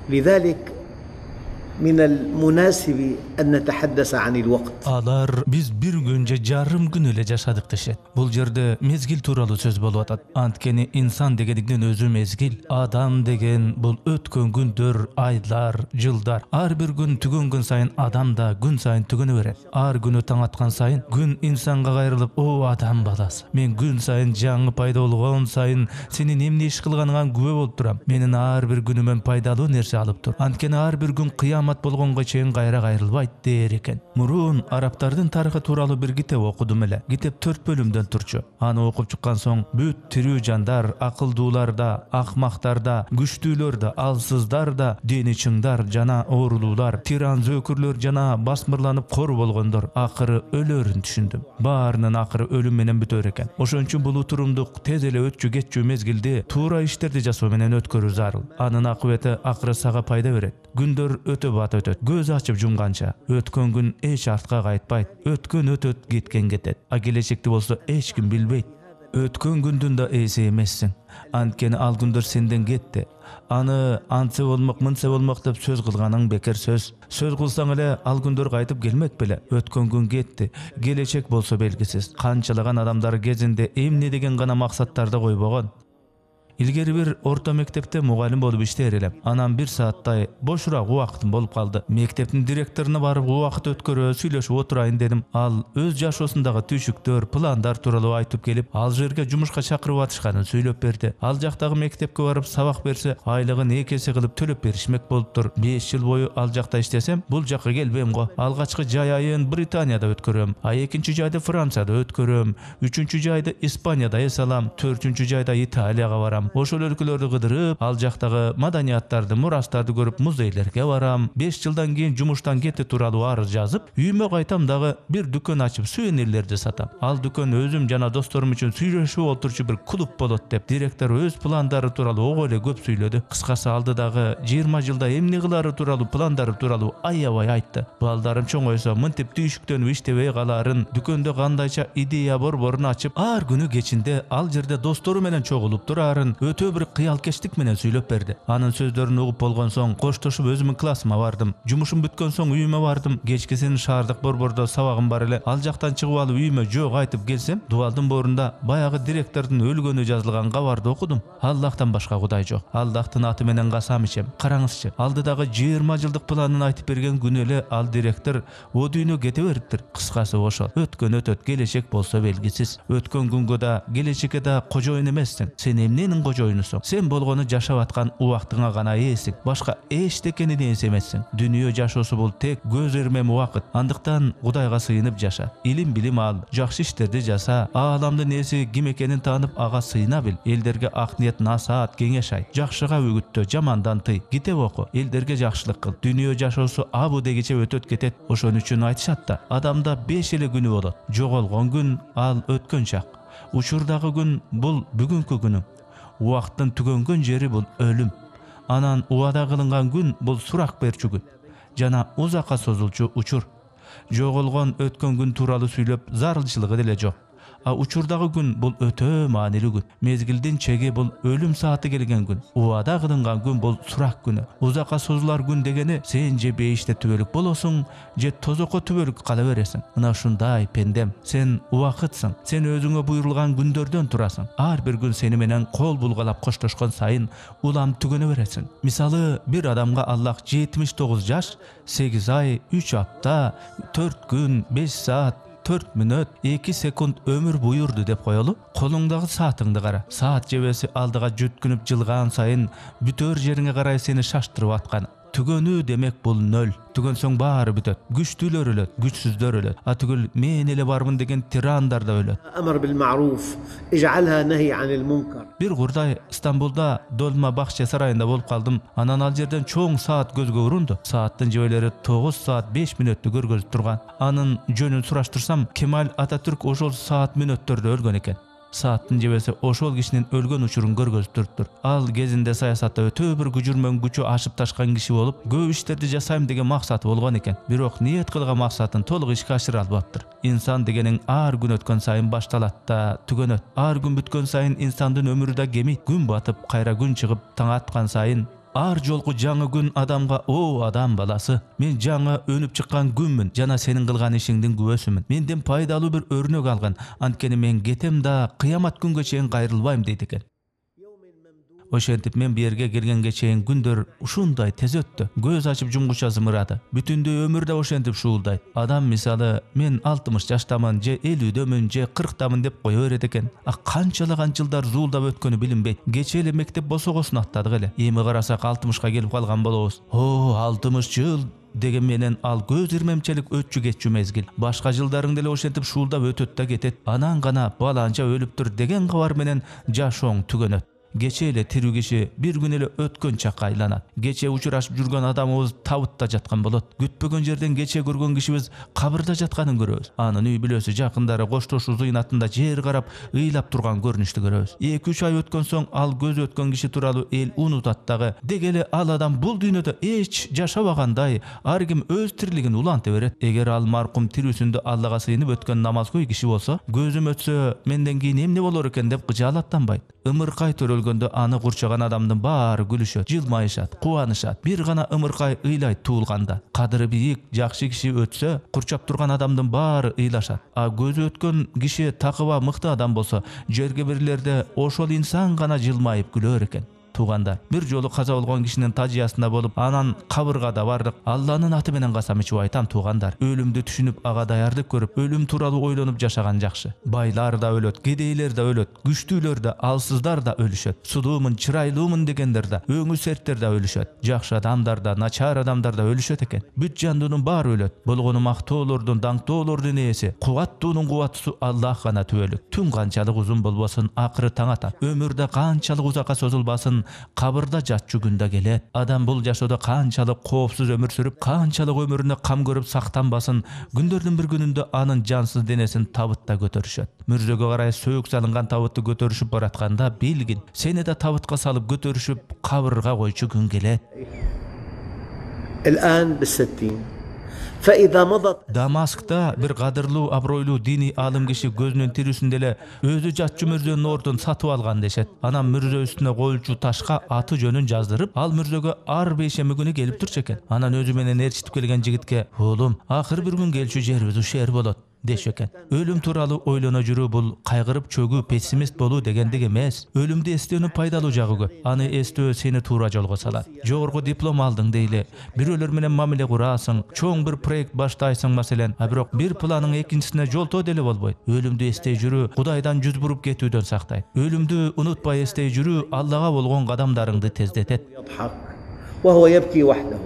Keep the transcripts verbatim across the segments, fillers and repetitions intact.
لذلك من المناسب أن نتحدث عن الوقت. Алар биз бир күн же жарым күн эле жашадык дешет. Бул жерде мезгил тууралуу сөз болуп атат. Анткени инсан дегендиктен өзү мезгил, адам деген бул өткөн күндөр, айлар, жылдар. Ар бир күн түгөнгөн сайын адам да күн сайын түгөнө берет. Ар күнү таң аткан сайын күн инсанга кайрылып, "О адам баласы, мен күн сайын жаңы пайда болгон сайын сенин эмне иш кылганыңа күбө болуп турам. Менин ар бир күнүмөн пайдалуу нерсе алып тур. Анткени ар бир күн кыямат болгонго чейин кайра кайрылбайт" дээр экен. Мурун арабтардын тарыхы тууралуу бир китеп окудум эле. Китеп төрт бөлүмдөн турчу. Аны окуп чыккан соң бүт тирүү жандар, акылдуулар да, акмактар да, күчтүүлөр да, алсыздар да, дени чыңдар жана оорулуулар, тиран зөөкүрлөр жана басмырланып кор болгондор акыры өлөрүн түшүндүм. Баарынын акыры өлүм менен бүтөр экен. Ошон үчүн бул утурумдук тез эле өтчү кетчү мезгилди туура иштерди жасоо менен өткөрүү зарыл. Анын акыбети акыры сага пайда берет. Күндөр өтө бат өтөт. Көз ачып жумганча өткөн күн эч артка кайтпайт. Өткөн өтөт, кеткен кетет. А келечекти болсо эч ким билбейт. Өткөн күндүн да ээси эмессиң. Анткени ал күндөр сенден кетти. Аны антсе болмок, мынтсе болмок деп сөз кылганың бекер сөз. Сөз кылсаң эле ал күндөр кайтып келмек беле. Өткөн күн кетти. Келечек болсо белгисиз. Канчалаган адамдар кезинде эмне деген гана максаттарды койбогон. Илгери бир орто мектепте мугалим болуп иштер элем. Анан бир сааттай бошураак убактым болуп калды. Мектептин директоруна барып убакыт өткөрө, сүйлөшүп отурайын дедим. Ал өз жашоосундагы түйшүктөр, пландар тууралуу айтып келип, ал жерге жумушка чакырып атышканын сүйлөп берди. Ал жактагы мектепке барып сабак берсе, айлыгын эки эсе кылып төлөп беришмек болуптур. беш жыл бою ал жакта иштесем, бул жакка келбейм го. Алгачкы жай айын Британияда өткөрөм, а экинчи жайды Францияда өткөрөм, үчүнчү жайды Испанияда эс алам, төртүнчү жайда Италияга барам. Ошол өлкөлөрдү кыдырып, ал жактагы маданияттарды, мурастарды көрүп, музейлерге барам. беш жылдан кийин жумуштан кетти тууралуу арыз жазып, үйүмө кайтам дагы бир дүкөн ачып сувенирлерди сатам. Ал дүкөн өзүм жана досторум үчүн сүйлөшүп отурчу бир клуб болот деп директор өз пландары тууралуу ого эле көп сүйлөдү. Кыскасы алдыдагы жыйырма жылда эмне кылары тууралуу пландары тууралуу аябай айтты. Балдарым чоңойсо мынтип түйшүктөнүп иштебей калаарын, дүкөндө кандайча идея борборун ачып, ар күнү кечинде ал жерде достору менен чогулуп турарын өтө бир кыялкечтик менен сүйлөп берди. Анын сөздөрүн угуп болгон соң коштошуп өзүмүн классыма бардым. Жумушум бүткөн соң үйүмө бардым. Кечкисин шаардык борбордо сабагым бар эле. Ал жактан чыгып алып үйүмө жок айтып келсем, дубалдын борунда баягы директордун өлгөнү жазылган кабарды окудум. Аллахтан башка кудай жок. Аллахтын аты менен касам ичем. Караңызчы, алдыдагы жыйырма жылдык планын айтып берген күнү эле ал директор о дүйнө кете бериптир. Кыскасы ошол. Өткөн өтөт, келечек болсо белгисиз. Өткөн күнгө да, келечекке да кожоюн эмессиң. Сен эмненин кожоюнусуң? Сен болгону жашап аткан убактыңа гана ээсиң. Башка эчтекенин ээси эмессиң. Дүнүйө жашоосу бул тек көз эрмем убакыт. Андыктан Кудайга сыйынып жаша. Илим билим ал, жакшы иштерди жаса, ааламдын ээси ким экенин таанып ага сыйына бил. Элдерге ак ниет, насаат, кеңеш ай. Жакшыга үгүттө, жамандан тый. Китеп оку, элдерге жакшылык кыл. Дүнүйө жашоосу абу дегиче өтөт кетет. Ошон үчүн айтышат да, адамда беш эле күнү болот. Жоголгон күн ал өткөн чак. Учурдагы күн бул бүгүнкү күнүң. Убакыттын түгөнгөн жери бул өлүм. Анан убада кылынган күн бул сурак берчү күн жана узакка созулчу учур. Жоголгон өткөн күн тууралуу сүйлөп зарылчылыгы деле жок. А учурдагы күн бул өтө маанилүү күн. Мезгилдин чеги бул өлүм сааты келген күн. Убада кылынган күн бул сурак күнү. Узакка созулар күн дегени сен же бейиште түбөлүк болосуң, же тозокко түбөлүк кала бересиң. Мына ушундай пендем, сен убакытсың. Сен өзүңө буйрулган күндөрдөн турасың. Ар бир күн сени менен кол булгалап коштошкон сайын улам түгөнө бересиң. Мисалы, бир адамга Аллах жетимиш тогуз жаш, сегиз ай, үч апта, төрт күн, беш саат, төрт мүнөт, эки секунд өмүр буйурду деп коелу. Колуңдагы саатыңды кара. Саат жебеси алдыга жүткүнүп жылган сайын бүтөр жериңе карай сени шаштырып аткан. Түгөнүү демек бул нөл. Түгөнсөң баары бүтөт. Күчтүүлөр өлөт, күчсүздөр өлөт. А түгүл мен эле бармын деген тирандар да өлөт. أمر بالمعروف اجعلها نهي عن المنكر. Бир курдай Стамбулда Долма Бакче сарайында болуп калдым. Анан ал жерден чоң саат көзгө урунду. Сааттын жебелери тогуз саат беш мүнөттү көргөзүп турган. Анын жөнүн сураштырсам, Кемаль Ататүрк ошол саат мүнөттөрдө өлгөн экен. Сааттын жебеси ошол кишинин өлгөн учурун көргөзүп туруптур. Ал кезинде саясатта өтө бир күжүрмөн күчү ашып ташкан киши болуп, көп иштерди жасайм деген максаты болгон экен. Бирок ниет кылган максатын толук ишке ашыра албаптыр. Инсан дегениң ар күн өткөн сайын башталат да түгөнөт. Ар күн бүткөн сайын инсандын өмүрү да кемейт. Күн батып, кайра күн чыгып, таң аткан сайын ар жолку жаңы күн адамга: "О, адам баласы, мен жаңы өнүп чыккан күнмүн жана сенин кылган ишиңдин күбөсүмүн. Менден пайдалуу бир өрнөк алган. Анткени мен кетем да кыямат күнгө чейин кайрылбайм" дейт экен. Ошентип мен бу жерге келгенге чейин күндөр ушундай тез өттү. Көз ачып жумгуча зымырады. Бүтүндөй өмүр да ошентип шуулдайт. Адам мисалы мен алтымыш жаштамын, же элүүдөмүн, же кырктамын деп кое берет экен. А канчалаган жылдар зуулдап өткөнү билинбейт. Кече эле мектеп босогосун аттадык эле. Эми карасак алтымышка келип калган болобуз. О, алтымыш жыл деген менен ал көз ирмемчелик өтчү кетчү мезгил. Башка жылдарың деле ошентип шуулдап өтөт да кетет. Анан гана баланча өлүптүр деген кабар менен жашооң түгөнөт. Кече эле тирүү киши бир күн эле өткөн чакка айланат. Кече учурашып жүргөн адамыбыз табытта жаткан болот. Күтпөгөн жерден кече көргөн кишибиз кабырда жатканын көрөбүз. Анын үй бүлөсү, жакындары коштошуу зыйнатында жер карап, ыйлап турган көрүнүштү көрөбүз. эки үч ай өткөн соң ал көзү өткөн киши тууралуу эл унутат дагы. Деги эле ал адам бул дүйнөдө эч жашабагандай, ар ким өз тирилигин уланта берет. Эгер ал маркум тирүүсүндө Аллага сыйынып өткөн намазгой киши болсо, көзүм өтсө менден кийин эмне болор экен деп кыжаалаттанбайт. Ымыркай төрөлгөндө аны курчаган адамдын баары күлүшөт, жылмайышат, кубанышат. Бир гана ымыркай ыйлайт туулганда. Кадыры бийик, жакшы киши өтсө, курчап турган адамдын баары ыйлашат. А көзү өткөн киши такыба мыкты адам болсо, жерге бирлерде ошол инсан гана жылмайып күлөр экен. Туугандар, бир жолу каза болгон кишинин тажыясында болуп, анан кабыргада бардык. Алланын аты менен касам ичип айтам, туугандар, өлүмдү түшүнүп, ага даярдык көрүп, өлүм тууралуу ойлонуп жашаган жакшы. Байлар да өлөт, кедейлер да өлөт, күчтүүлөр да, алсыздар да өлүшөт. Сулуумун, чырайлуумун дегендер да, өңү серттер да өлүшөт. Жакшы адамдар да, начар адамдар да өлүшөт экен. Бүт жандуунун баары өлөт. Болгону мактоолордун, даңктоолордун ээси, кубаттуунун кубаттуусу Аллах гана түбөлүк. Түн канчалык узун болбосун, акыры таң атат. Өмүр да канчалык узакка созулбасын, кабырда жатчу күндө келет. Адам бул жашоодо канчалык коопсуз өмүр сүрүп, канчалык өмүрүнө кам көрүп сактанбасын, күндөрдүн бир күнүндө анын жансыз денесин табытта көтөрүшөт. Мүрзөгө карай сөөк салынган табытты көтөрүшүп баратканда билгин, сени да табытка салып көтөрүшүп кабырга койчу күн келет. الآن بالستين فإذا مضت Дамаскта бир кадырлуу, абройлуу диний алым киши көзүнүн тирүүсүндө эле өзү жатчу мүрзөнүн ордун сатып алган дешет. Анан мүрзө үстүнө коюлчу ташка аты жөнүн жаздырып, ал мүрзөгө ар бейшемби күнү келип турчу экен. Анан өзү менен ээрчитип келген жигитке: "Оолум, акыр бир күн келчү жерибиз ушул жер болот" деши экен. Өлүм тууралуу ойлоно жүрүү бул кайгырып чөгүү, пессимист болуу дегендик эмес. Өлүмдү эстөөнүн пайдалуу жагы көп. Аны эстөө сени туура жолго салат. Жогорку диплом алдың дейли, бирөөлөр менен мамиле курасың, чоң бир проект баштайсың маселен, а бирок бир планың экинчисине жолтоо деле болбойт. Өлүмдү эстей жүрүү Кудайдан жүз буруп кетүүдөн сактайт. Өлүмдү унутпай эстей жүрүү Аллага болгон кадамдарыңды тездетет. وهو يبكي وحده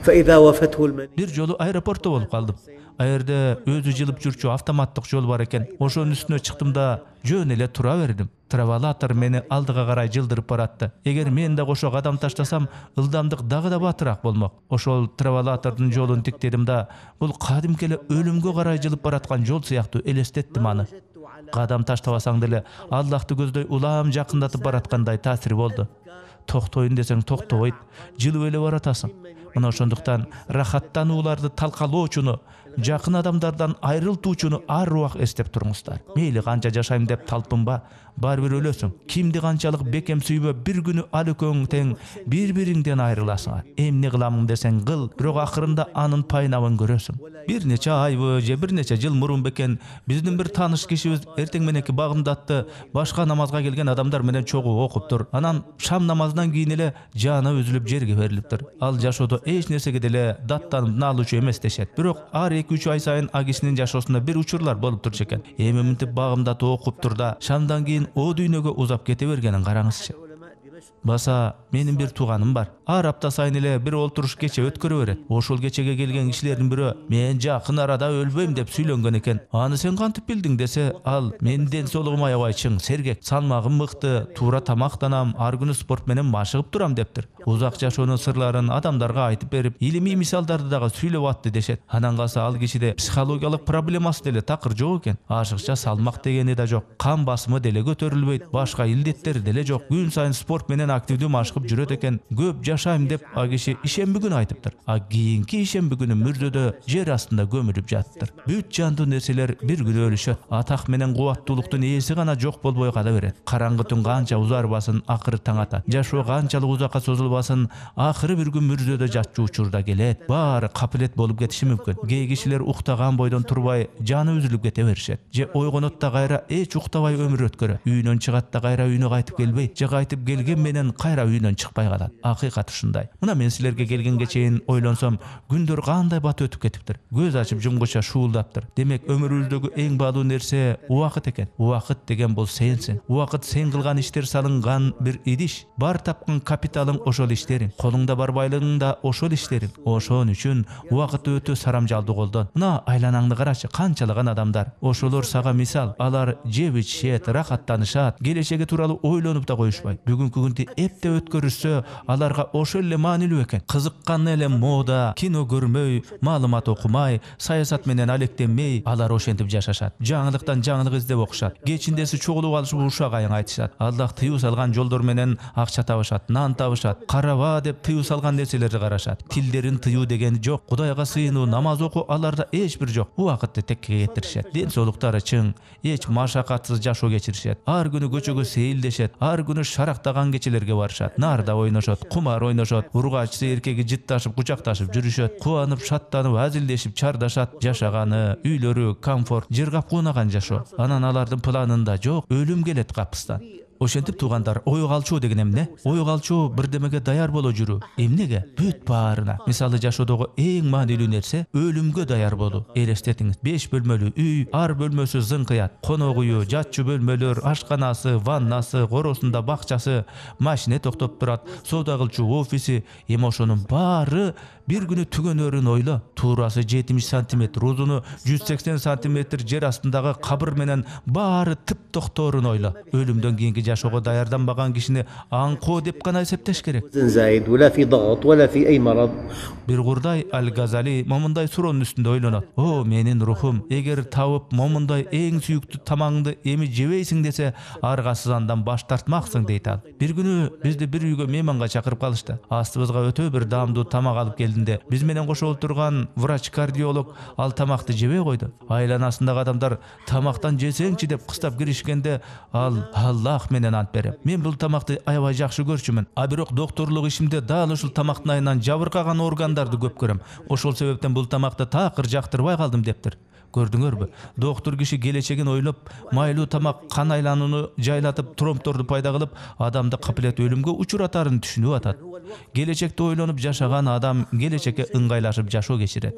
فإذا وفته المنية. Бир жолу аэропортто болуп калдым. Аерде өзү жылып жүрчү автоматтык жол бар экен. Ошонун үстүнө чыктым да жөн эле тура бердим. Травалатор мени алдыга карай жылдырып баратты. Эгер мен да кошо кадам таштасам, ылдамдык дагы да батыраак болмок. Ошол травалатордун жолун тиктедим да, бул кадимки эле өлүмгө карай жылып бараткан жол сыяктуу элестеттим аны. Кадам таштабасаң деле Аллахты көздөй улам жакындатып бараткандай таасири болду. Токтойн десең токтобойт, жылып эле баратасың. Мына ошондуктан рахаттанууларды талкалоочуну, жакын адамдардан айрылтуучуну ар убак эстеп туруңуздар. Мейли канча жашайм деп талпынба, баары бир өлөсүң. Кимди канчалык бекем сүйбө, бир күнү ал экөөң тең бири-бириңден айрыласыңар. Эмне кыламын десең кыл, бирок акырында анын пайнабын көрөсүң. Бир нече айбы же бир нече жыл мурун бекен биздин бир тааныш кишибиз эртең мененки багымдатты башка намазга келген адамдар менен чогуу окуптур. Анан шам намазынан кийин эле жаны үзүлүп жерге берилиптир. Ал жашоодо эч нерсеге деле даттанып наалуучу эмес дешет. Бирок ар эки үч ай сайын а кишинин жашоосунда бир учурлар болуп турчу экен. Эми мынтип багымдатып окуптур да шамдан кийин о дүйнөгө узап кете бергенин караңызчы. Баса менин бир тууганым бар. Ар апта сайын эле бир олтуруш кече өткөрө берет. Ошол кечеге келген кишилердин бирөө мен жакын арада өлбөйм деп сүйлөнгөн экен. Аны сен кантип билдиң десе, ал мен ден соолугум аябай чың, сергек, салмагым мыкты, туура тамактанам, ар күнү спорт менен машыгып турам дептир. Узак жашоонун сырларын адамдарга айтып берип, илимий мисалдарды дагы сүйлөп атты дешет. Анан калса ал кишиде психологиялык проблемасы деле такыр жок экен. Ашыкча салмак дегени да жок, кан басымы деле көтөрүлбөйт, башка илдеттери деле жок. Күн сайын спорт менен активдүү машыгып жүрөт экен, көп жашайм деп а киши ишемби күнү айтыптыр. А кийинки ишемби күнү мүрзөдө жер астында көмүлүп жатыптыр. Бүт жандуу нерселер бир күнү өлүшөт. Атак менен кубаттуулуктун ээси гана жок болбой кала берет. Караңгы түн канча узарбасын, акыры таң атат. Жашоо канчалык узакка созулбасын, акыры бир күн мүрзөдө жатчу учурда келет. Баары капилет болуп кетиши мүмкүн. Кээ кишилер уктаган бойдон турбай жаны үзүлүп кете беришет. Же ойгонот да кайра эч уктабай өмүр өткөрөт. Үйүнөн чыгат да кайра үйүнө кайтып келбейт. Же кайтып келген менен кайра үйүнөн чыкпай калат. Акыйкат ушундай. Мына мен силерге келгенге чейин ойлонсом, күндөр кандай бат өтүп кетиптир. Көз ачып жумгуча шуулдаптыр. Демек өмүрүбүздөгү эң баалуу нерсе убакыт экен. Убакыт деген бул сенсиң. Убакыт сен кылган иштер салынган бир идиш. Бар тапкан капиталың ошол иштериң. Колуңда бар байлыгың да ошол иштериң. Ошон үчүн убакытты өтө сарамжалдуу колдон. Мына айланаңды карачы, канчалаган адамдар. Ошолор сага мисал. Алар жеп ичишет, рахаттанышат, келечеги тууралуу ойлонуп да коюшпайт. Бүгүнкү күндү эпте өткөрүшсө, аларга ошол эле маанилүү экен. Кызыккан эле мода, кино көрмөй, маалымат окумай, саясат менен алектенмей, алар ошентип жашашат. Жаңылыктан жаңылык издеп окушат. Кечиндеси чогулуп алышып ушак айың айтышат. Аллах тыюу салган жолдор менен акча табышат, нан табышат. Караба деп тыюу салган нерселерди карашат. Тилдерин тыюу деген жок. Кудайга сыйынуу, намаз окуу аларда эч бир жок. Убакытты текке кетиришет. Ден соолуктары чың, эч машакатсыз жашоо кечиришет. Ар күнү көчөгө сейилдешет. Ар күнү шарактаган кечелерге барышат. Нарда ойношот, кумар ойношот. Ургачысы эркеги жытташып, кучакташып жүрүшөт. Кубанып, шаттанып, азилдешип чардашат. Жашаганы, үйлөрү, комфорт, жыргап куунаган жашоо. Анан алардын планында жок, өлүм келет капыстан. Ошентип туугандар, ой калчуу деген эмне? Ой калчуу бирдемеге даяр боло жүрүү. Эмнеге? Бүт баарына. Мисалы жашоодогу эң маанилүү нерсе өлүмгө даяр болуу. Элестетиңиз, беш бөлмөлүү үй, ар бөлмөсү зыңкыят. Конок үйү, жатчу бөлмөлөр, ашканасы, ваннасы, коросунда бакчасы, машина токтоп турат, соода кылчу офиси. Эми ошонун баары бир күнү түгөнөрүн ойло. Туурасы жетимиш сантиметр, узуну жүз сексен сантиметр жер астындагы кабыр менен баары тып токторун ойло. Өлүмдөн кийинки жашоого даярданбаган кишини аңкоо деп гана эсептеш керек. Бир курдай Аль-Газали момундай суроонун үстүндө ойлонот. О, менин рухум, эгер табып момундай эң сүйүктүү тамагыңды эми жебейсиң десе, аргасыз андан баш тартмаксың дейт ал. Бир күнү бизди бир үйгө мейманга чакырып калышты. Астыбызга өтө бир даамдуу тамак алып келдинде, биз менен кошо отурган врач-кардиолог ал тамакты жебей койду. Айланасындагы адамдар тамактан жесеңчи деп кыстап киришкенде, ал Аллах менен ант берем, мен бул тамакты аябай жакшы көрчүмүн. А бирок докторлук ишимде дал ушул тамактын айынан жабыркаган органдарды көп көрөм. Ошол себептен бул тамакты такыр жактырбай калдым дептир. Көрдүңөрбү? Доктор киши келечегин ойлоп, майлуу тамак кан айланууну жайлатып, тромбторду пайда кылып, адамды капилет өлүмгө учуратарын түшүнүп атат. Келечекти ойлонуп жашаган адам келечекке ыңгайлашып жашоо кечирет.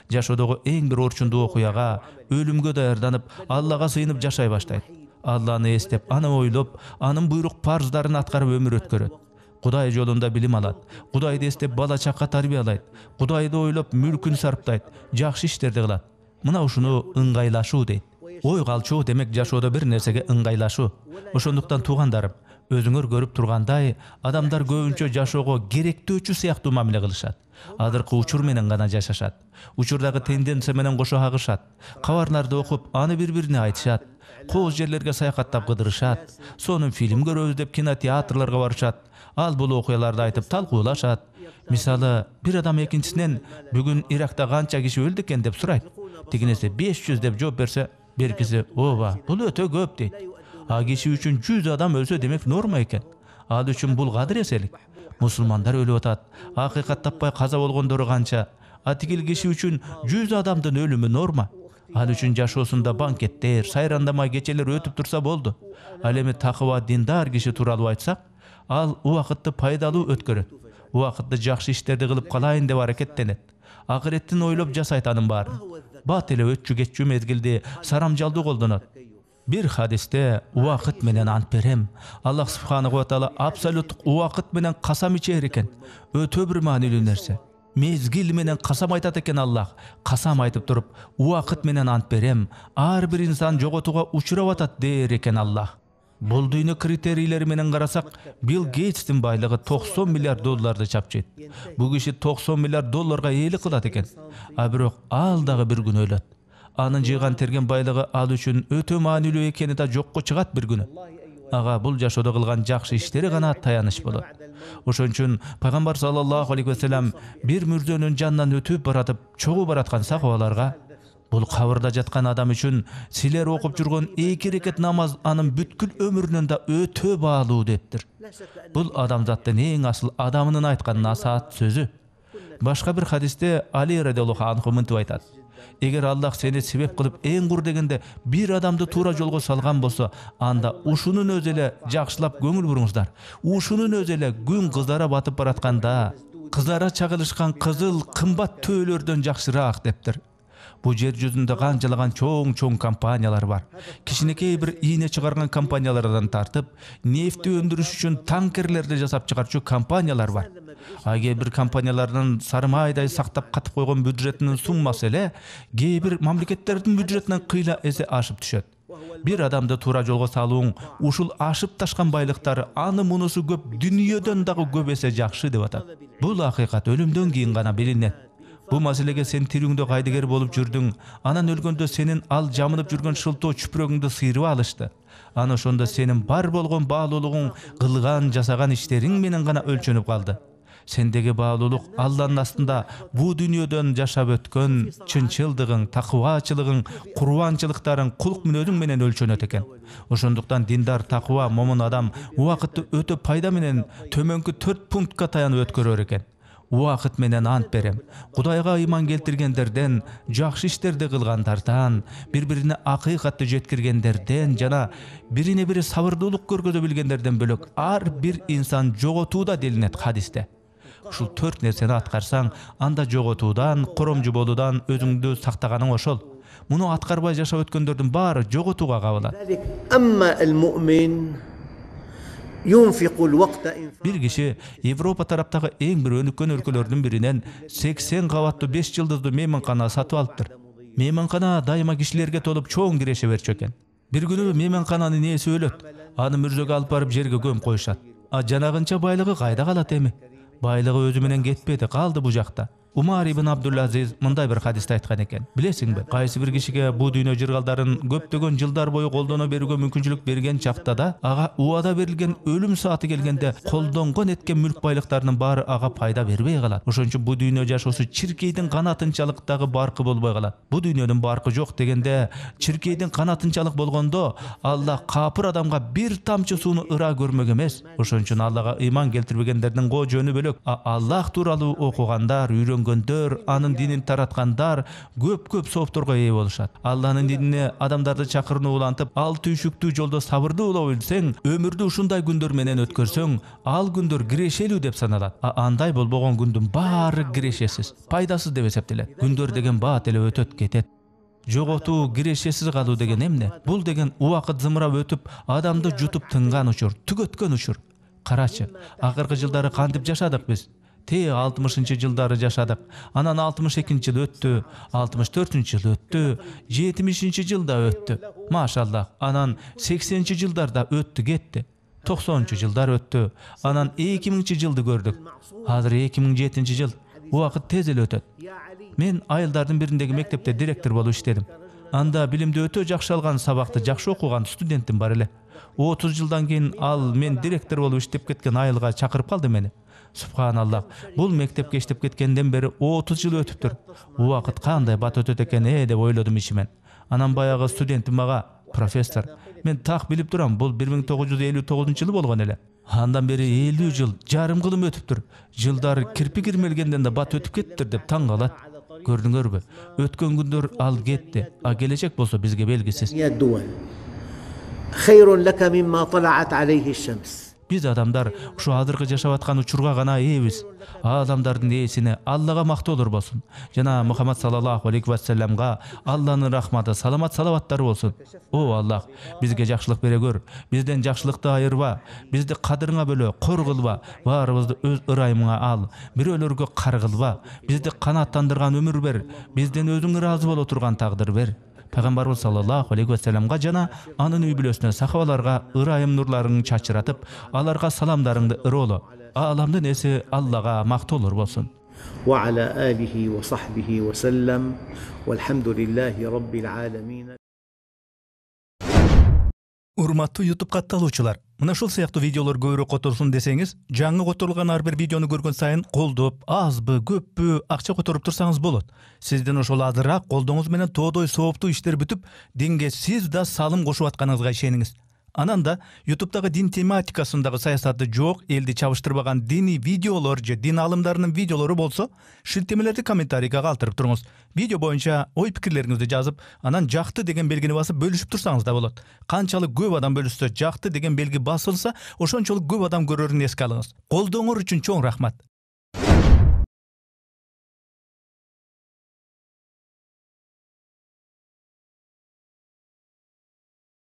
Жашоодогу эң бир орчундуу окуяга, өлүмгө даярданып, Аллага сыйынып жашай баштайт. Алланы эстеп, аны ойлоп, анын буйрук парздарын аткарып өмүр өткөрөт. Кудай жолунда билим алат. Кудайды эстеп бала чакка тарбиялайт. Кудайды ойлоп мүлкүн сарптайт. Жакшы иштерди кылат. Мына ушуну ыңгайлашуу дейт. Ой калчуу демек жашоодо бир нерсеге ыңгайлашуу. Ошондуктан туугандарым, өзүңөр көрүп тургандай, адамдар көбүнчө жашоого керектөөчү сыяктуу мамиле кылышат. Адыркы учур менен гана жашашат. Учурдагы тенденция менен кошо агышат. Кабарларды окуп, аны бири-бирине айтышат. Кооз жерлерге саякаттап кыдырышат. Сонун фильм көрөбүз деп кинотеатрларга барышат. Ал бул окуяларды айтып талкуулашат. Мисалы, бир адам экинчисинен бүгүн Иракта канча киши өлдү экен деп сурайт. Тигинесе беш жүз деп жооп берсе, беркиси ооба, бул өтө көп дейт. А киши үчүн жүз адам өлсө демек норма экен. Ал үчүн бул кадыр эселик. Мусулмандар өлүп атат. Акыйкат таппай каза болгондору канча. А тигил киши үчүн жүз адамдын өлүмү норма. Ал үчүн жашоосунда банкеттер, сайрандамай кечелер өтүп турса болду. Ал эми такыба диндар киши тууралуу айтсак, ал убакытты пайдалуу өткөрөт. Убакытты жакшы иштерди кылып калайын деп аракеттенет. Акыреттин ойлоп жасайт анын баарын. Бат эле өтчү кетчү мезгилди сарамжалдуу колдонот. Бир хадисте убакыт менен ант берем. Аллах субханаху ва таала абсолюттук убакыт менен касам ичер экен. Өтө бир маанилүү нерсе. Мезгил менен касам айтат экен Аллах. Касам айтып туруп, убакыт менен ант берем. Ар бир инсан жоготууга учурап атат дээр экен Аллах. Бул дүйнө критерийлери менен карасак, Билл Гейтстин байлыгы токсон миллиард долларды чапчыйт. Бул киши токсон миллиард долларга ээлик кылат экен. А бирок ал дагы бир күн ойлот. Анын жыйган терген байлыгы ал үчүн өтө маанилүү экени да жокко чыгат бир күнү. ага бул жашоодо кылган жакшы иштери гана таяныч болот. Ошон үчүн пайгамбар саллаллаху алейхи вассалам бир мүрзөнүн жанынан өтүп баратып чогуу бараткан сахабаларга бул кабырда жаткан адам үчүн силер окуп жүргөн эки рекет намаз анын бүткүл өмүрүнөн да өтө баалуу дептир. Бул адамзаттын эң асыл адамынын айткан насаат сөзү. Башка бир хадисте Али радиаллаху анху мынтип айтат: эгер Аллах сени себеп кылып эң кур дегенде бир адамды туура жолго салган болсо, анда ушунун өзү эле жакшылап көңүл буруңуздар. Ушунун өзү эле күн кыздара батып баратканда кыздара чагылышкан кызыл кымбат төөлөрдөн жакшыраак дептир. Бу жер жүзүндө канчалаган чоң-чоң компаниялар бар. Кичинекей бир ийне чыгарган компаниялардан тартып, нефти өндүрүш үчүн танкерлерди жасап чыгарчу компаниялар бар. А кээ бир компаниялардын сарымайдай сактап катып койгон бюджетинин суммасы эле кээ бир мамлекеттердин бюджетинен кыйла эсе ашып түшөт. Бир адамды туура жолго салууң ушул ашып ташкан байлыктары аны мунусу көп дүйнөдөн дагы көп эсе жакшы деп атат. Бул акыйкат өлүмдөн кийин гана билинет. Бу маселеге сен тирүүңдө кайдыгер болуп жүрдүң, анан өлгөндө сенин ал жамынып жүргөн шылтоо чүпүрөгүңдү сыйрып алышты. Аны ошондо сенин бар болгон баалуулугуң кылган, жасаган иштериң менен гана өлчөнүп калды. Сендеги баалуулук Алланын астында бу дүйнөдөн жашап өткөн чынчылдыгың, такыбачылыгың, курбанчылыктарың, кулк мүнөзүң менен өлчөнөт экен. Ошондуктан диндар, такыба, момун адам убакытты өтө пайда менен төмөнкү төрт пунктка таянып өткөрөр экен. Убакыт менен ант берем. Кудайга ыйман келтиргендерден, жакшы иштерди кылгандардан, бири-бирине акыйкатты жеткиргендерден жана бирине бири сабырдуулук көргөзө билгендерден бөлөк ар бир инсан жоготууда делинет хадисте. Ушул төрт нерсени аткарсаң, анда жоготуудан, коромжу болуудан өзүңдү сактаганың ошол. Муну аткарбай жашап өткөндөрдүн баары жоготууга кабылат. Бир киши Европа тараптагы эң бир өнүккөн өлкөлөрдүн биринен сексен кабаттуу беш жылдыздуу мейманкана сатып алыптыр. Мейманкана дайыма кишилерге толуп чоң киреше берчү экен. Бир күнү мейманкананын ээси өлөт. Аны мүрзөгө алып барып жерге көмүп коюшат. А жанагынча байлыгы кайда калат эми? Байлыгы өзү менен кетпеди, калды бу жакта. Умар ибн Абдул-Азиз мындай бир хадисте айткан экен. Билесиңби, кайсы бир кишиге бу дүйнө жыргалдарын көптөгөн жылдар бою колдоно берүүгө мүмкүнчүлүк берген чактада, ага убада берилген өлүм сааты келгенде колдонгон эткен мүлк байлыктарынын баары ага пайда бербей калат. Ошон үчүн бу дүйнө жашоосу чиркейдин канатынчалык дагы баркы болбой калат. Бу дүйнөнүн баркы жок дегенде, чиркейдин канатынчалык болгондо, Аллах капыр адамга бир тамчы сууну ыра көрмөк эмес. Ошон үчүн Аллага ыйман келтирбегендердин го жөнү бөлөк. Аллах тууралуу окугандар, үйрөнгөндөр, анын динин тараткандар көп-көп соопторго ээ болушат. Алланын динине адамдарды чакырууну улантып, ал түйшүктүү жолдо сабырдуу боло билсең, өмүрдү ушундай күндөр менен өткөрсөң, ал күндөр кирешелүү деп саналат. А андай болбогон күндүн баары кирешесиз, пайдасыз деп эсептелет. Күндөр деген баат эле өтөт кетет. Жоготуу, кирешесиз калуу деген эмне? Бул деген убакыт зымырап өтүп, адамды жутуп тынган учур, түгөткөн учур. Карачы, акыркы жылдары кантип жашадык биз? Те алтымышынчы жылдары жашадык. Анан алтымыш экинчи жыл өттү, алтымыш төртүнчү жыл өттү, жетимишинчи жылда өттү. Машаллах. Анан сексенинчи жылдарда өттү кетти. токсонунчу жылдар өттү. Анан эки миңинчи жылды көрдүк. Азыр эки миң жетинчи жыл. Убакыт тез эле өтөт. Мен айылдардын бириндеги мектепте директор болуп иштедим. Анда билимди өтө жакшы алган, сабакты жакшы окуган студентим бар эле. отуз жылдан кийин ал мен директор болуп иштеп кеткен айылга чакырып калды мени. Субханаллах. Бул мектепке иштеп кеткенден бери отуз жыл өтүптүр. Убакыт кандай бат өтөт экен э деп ойлодум ичимен. Анан баягы студентим мага: "Профессор, мен так билип турам, бул бир миң тогуз жүз элүү тогузунчу жылы болгон эле. Андан бери элүү жыл, жарым кылым өтүптүр. Жылдар кирпи кирмелгенден да бат өтүп кеттир" деп таң калат. Көрдүңөрбү? Өткөн күндөр ал кетти, а келечек болсо бизге белгисиз. Биз адамдар ушу азыркы жашап аткан учурга гана ээбиз. Адамдардын ээсине Аллага мактоолор болсун. Жана Мухаммад саллаллаху алейхи вассаламга Алланын рахматы, саламат салаваттары болсун. О Аллах, бизге жакшылык бере көр. Бизден жакшылыкты айырба. Бизди кадырыңа бөлө, кор кылба. Баарыбызды өз ырайымыңа ал. Бирөөлөргө кар кылба. Бизди канааттандырган өмүр бер. Бизден өзүң ыраазы боло турган тагдыр бер. Пайгамбарыбыз саллаллаху алейхи вассаламга жана анын үй бүлөсүнө, сахабаларга ырайым нурларыңды чачыратып, аларга саламдарыңды ыроло. Ааламдын эси Аллага мактоолор болсун. Ва аля алихи ва сахбихи ва саллам. Валхамдулиллахи раббил аламин. Урматтуу YouTube катталуучулар, мына ушул сыяктуу видеолор көбүрөөк которсун десеңиз, жаңы которулган ар бир видеону көргөн сайын колдоп, азбы, көппү акча которуп турсаңыз болот. Сиздин ошол азыраак колдоңуз менен тоодой сооптуу иштер бүтүп, динге сиз да салым кошуп атканыңызга ишениңиз. Анан да YouTube'дагы дин тематикасындагы саясаты жок, элди чабыштырбаган диний видеолор же дин алымдарынын видеолору болсо, шилтемелерди комментарийге калтырып туруңуз. Видео боюнча ой пикирлериңизди жазып, анан жакты деген белгини басып бөлүшүп турсаңыз да болот. Канчалык көп адам бөлүшсө, жакты деген белги басылса, ошончолук көп адам көрөрүн эске алыңыз. Колдооңор үчүн чоң рахмат.